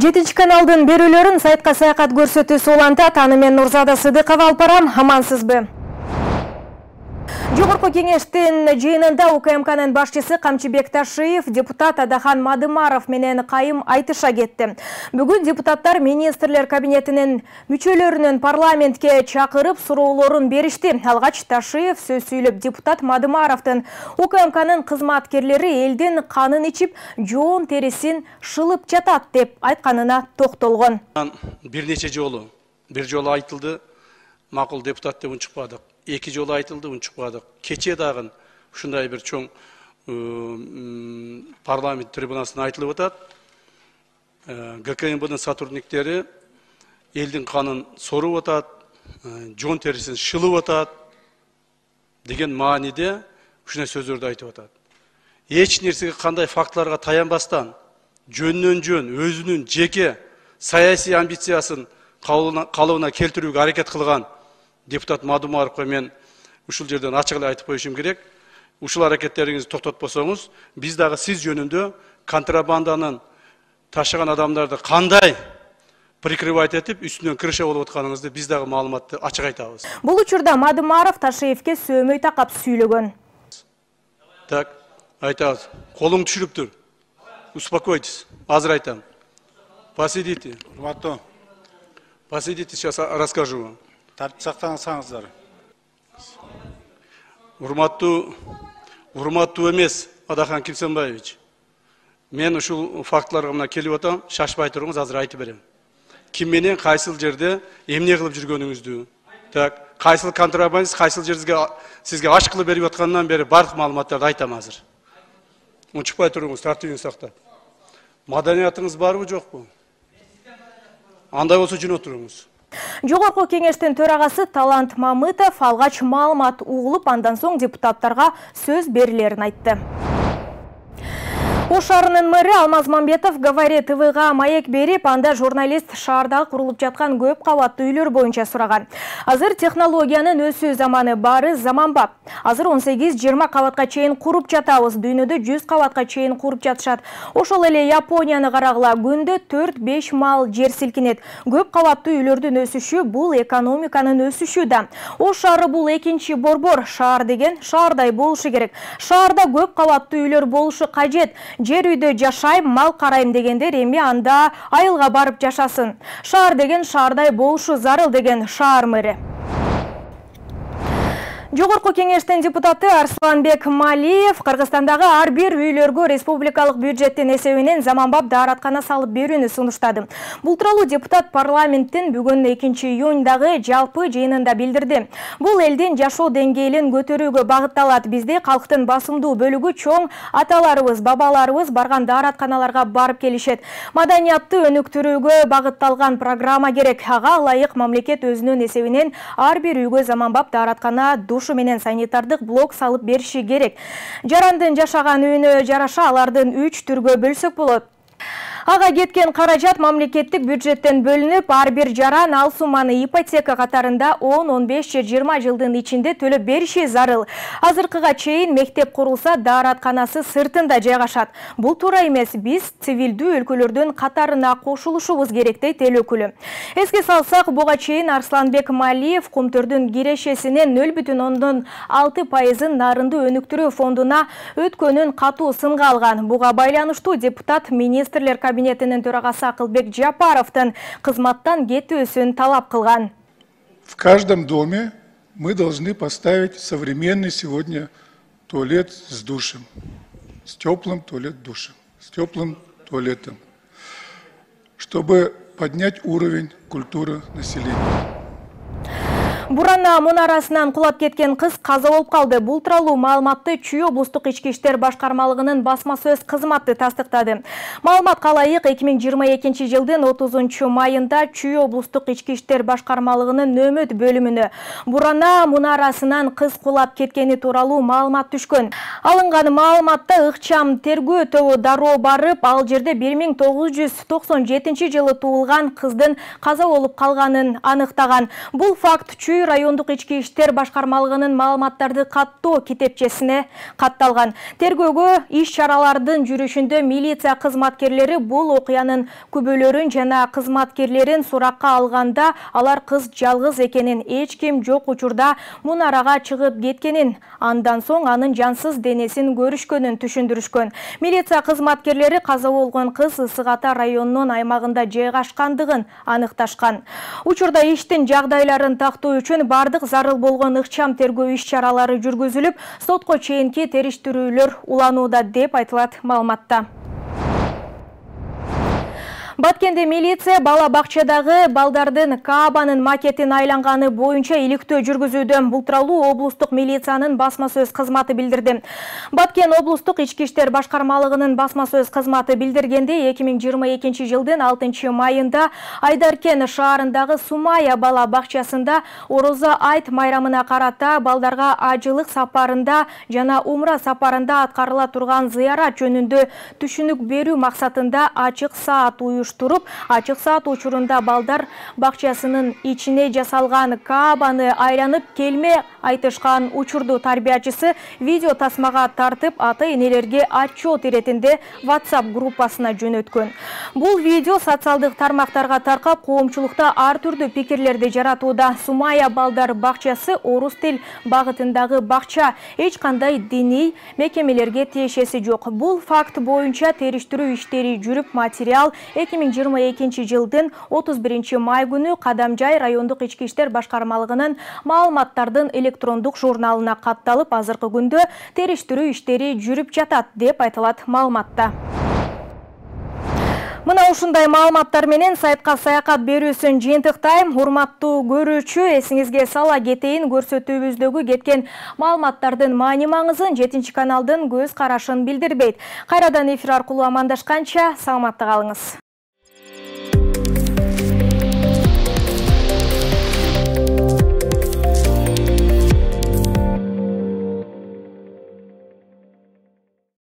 7 каналдын берүүлөрүн сайтка саякат көрсөтүүсү улантат. Аны мен Нурзада Сыдыкова алып барам. Амансызбы? Жогорку кеңештин жыйынында УКМКнын башчысы Камчыбек Ташиев депутат Адахан Мадымаров менен кайым айтыша кетти. Бүгүн депутаттар министрлер кабинетинин мүчөлөрүнүн парламентке чакырып суроолорун беришти. Алгач Ташиев сөз сүйлөп, депутат Мадымаровдун УКМКнын кызматкерлери элдин канын ичип, жоон терисин шылып жатат деп айтканына токтолгон. Бир нече жолу, бир жолу айтылды, макул депутат деп унчукпадык. 2 жолу айтылды, унчукпадык. Кече дагы ушундай бир чоң парламент трибунасына айтылып атат. ГКМБдын сотрудниктери элдин канын соруп атат, жоон терисин шылып атат деген мааниде ушундай сөздөрдү айтып атат. Эч нерсеге кандай фактыларга таянбастан, жөндөн жөн өзүнүн жеке саясий амбициясын калыбына келтирүүгө аракет кылган депутат Мадымаровго мен ушул жерден ачык эле айтып коюшум керек. Ушул аракеттериңизди токтотпосоңуз, биз дагы сиз жөнүндө контрабанданын ташыган адамдарды кандай прикрывать этип, үстүнөн крыша болуп атканыңызды биз дагы маалыматты ачык айтабыз. Бул учурда Мадымаров Ташиевке сөөмөй такап сүйлөгөн. Так, айтабыз. Колуң түшүрүп тур. Успокойтесь. Азыр айтам. Посидите. Посидите, сейчас расскажу вам. Сактансаңыздар. Урматтуу эмес Адахан Кимсенбаевич. Мен ушул фактыларга мына келип атам, шашпай туруңуз, азыр айтып берем. Ким менен кайсыл жерде эмне кылып жүргөнүңүздү, так, кайсыл контрабандист, кайсыл жерге сизге аш кылып берип аткандан бери бардык маалыматтарды айтам азыр. Унчукпай туруңуз, тартибиңизди сактап. Маданиятыңыз барбы, жокпу? Андай болсо жөн отуруңуз. Жогорку кеңештин төрагасы Талант Мамытов алгач маалымат угулуп, андан соң депутаттарга сөз берилерин айтты. Ош шаарынын мэрі Алмаз Мамбетов Говори ТВга маек берип, анда журналист шаарда курулуп жаткан көп кабаттуу үйлөр боюнча сураган. Азыр технологиянын өсүү заманы бары заманбап. Азыр 18-20 кабатка чейин куруп жатабыз, дүйнөдө 100 кабатка чейин куруп жатышат. Ошол эле Японияны карагыла, күндө 4-5 мал жер силкинет. Көп кабаттуу үйлөрдүн өсүшү бул экономиканын өсүшү да. Ош шаары бул экинчи борбор. Шаар деген шаардай болушу керек. Шаарда көп кабаттуу үйлөр болушу кажет. Жер үйдө жашайм, мал карайм дегендер эми анда айылга барып жашасын. Шаар деген шаардай болушу зарыл деген шаар мэри. Жогорку кеңештин депутаты Арсланбек Малиев Кыргызстандагы ар бир үйлөргө республикалык бюджеттин эсебинен заманбап даараткана салып берүүнү сунуштады. Бул тууралуу депутат парламенттин бүгүн 2-июндагы жалпы жыйынында билдирди. Бул элдин жашоо деңгээлин көтөрүүгө багытталат. Бизде калктын басымдуу бөлүгү чоң аталарыбыз, бабаларыбыз барган дааратканаларга барып келишет. Маданиятты өнүктүрүүгө багытталган программа керек. Ага ылайык мамлекет өзүнүн эсебинен ар бир үйгө заманбап даараткана менен санитардык блок салып бериши керек. Жарандын жашаган үйүнө жараша алардын 3 түргө бөлсөк болот. Ага кеткен каражат мамлекеттик бюджеттен бөлүнүп, ар бир жаран ал сумманы ипотека катарында 10-15 же 20 жылдын ичинде төлөп бериши зарыл. Азыркыга чейин мектеп курулса, дааратканасы сыртында жайгашат. Бул туура эмес, биз цивилдүү өлкөлөрдүн катарына кошулушубуз керек дейт эл өкүлү. Эске салсак, буга чейин Арсланбек Малиев Кумтөрдүн кирешесинен 0,6% нарынды өнүктүрүү фондуна өткөнүн катуу сынга алган. Буга байланыштуу депутат министрлер кабинетинин төрагасы Акылбек Жапаровдун кызматтан кетүүсүн талап кылган. В каждом доме мы должны поставить современный сегодня туалет с душем, с теплым туалет-душем, с теплым туалетом, чтобы поднять уровень культуры населения. Бурана мунарасынан кулап кеткен кыз каза болуп калды. Бул тууралуу маалыматты Чүй облустук ички иштер башкармалыгынын басма сөз кызматы тастыктады. Маалыматка ылайык 2022 жылдын 30 майында Чүй облустук ички иштер башкармалыгынын нөөмөт бөлүмүнө Бурана мунарасынан кыз кулап кеткени тууралуу маалымат түшкөн. Алынган маалыматта ыкчам тергөө тобу дароо барып, ал жерде 1997 жылы туулган кыздын каза болуп калганын аныктаган. Бул факт Чүй Чүй райондук ички иштер башкармалыгынын маалыматтарды каттоо китепчесине катталган. Тергөөгө иш-чаралардын жүрүшүндө милиция кызматкерлери бул окуянын күбөлөрүн жана кызматкерлерин суракка алганда алар кыз жалгыз экенин, эч ким жок учурда мунарага чыгып кеткенин, андан соң анын жансыз денесин көрүшкөнүн түшүндүрүшкөн. Милиция кызматкерлери каза болгон кыз Ысык Ата районунун аймагында жайгашкандыгын аныкташкан. Учурда иштин жагдайларын тактоо үчүн бардык зарыл болгон ыкчам тергөө иш-чаралары жүргүзүлүп, сотко чейинки териштирүүлөр уланууда деп айтылат маалыматта. Баткенде милиция бала бакчадагы балдардын Каабанын макетин айланганы боюнча иликтөө жүргүзүүдө. Бул тууралуу облустук милициянын басма сөз кызматы билдирди. Баткен облустук ички иштер башкармалыгынын басма сөз кызматы билдиргенде 2022 жылдын 6 майында Айдаркен шаарындагы Сумая бала бакчасында Орозо айт майрамына карата балдарга ажылык сапарында жана умра сапарында аткарыла турган зыярат жөнүндө түшүнүк берүү максатында ачык саат туруп, ачык саат учурунда балдар бакчасынын ичине жасалган Каабаны айланып келме айтышкан учурду тарбиячысы видео тасмага тартып, ата-энелерге отчет иретинде WhatsApp группасына жөнөткөн. Бул видео социалдык тармактарга таркап, коомчулукта ар түрдүү пикирлерди жаратууда. Сумая балдар бакчасы орус тил багытындагы бакча, эч кандай диний мекемелерге тиешеси жок. Бул факт боюнча териштирүү иштери жүрүп, материал 2022 жылдын 31 май күнү Кадамжай райондук ички иштер башкармалыгынын маалыматтардын электрондук журналына катталып, азыркы күндө териштирүү иштери жүрүп жатат деп айтылат маалыматта. Мына ушундай маалыматтар менен сайтка саякат берүүсүн жыйынтыктайм. Урматтуу көрүүчү, эсиңизге сала кетейин, көрсөтүүбүздөгү кеткен маалыматтардын маани маңызын 7 каналдын көз карашын билдирбейт. Кайрадан эфир аркылуу амандашканча саламатта калыңыз.